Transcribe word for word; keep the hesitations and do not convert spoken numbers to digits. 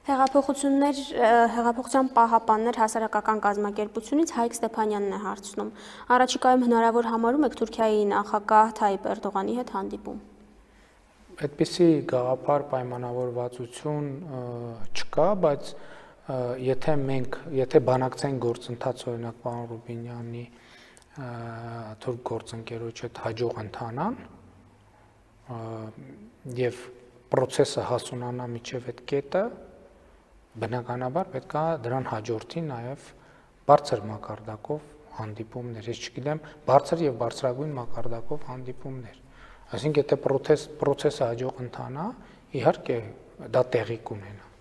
Հեղափոխություններ, հեղափոխության պահապաններ հասարակական կազմակերպությունից Հայկ Ստեփանյանն է հարցնում։ Առաջիկայում հնարավոր համարում եք Թուրքիայի նախագահ Թայիպ Էրդողանի հետ հանդիպում։ Այդպիսի գաղափար պայմանավորվածություն չկա, բայց եթե մենք, եթե բանակցային գործընթաց օրինակ պարոն Ռուբինյանի թուրք գործընկերոջ հետ հաջող ընթանան եւ process-ը հասունանա միջև այդ կետը, բնականաբար պետք է դրան հաջորդի նաև բարձր մակարդակով հանդիպումներ, ես չգիտեմ, բարձր եւ բարձրագույն մակարդակով հանդիպումներ։ Այսինքն եթե process process-ը հաջող ընթանա, իհարկե դա տեղի կունենա։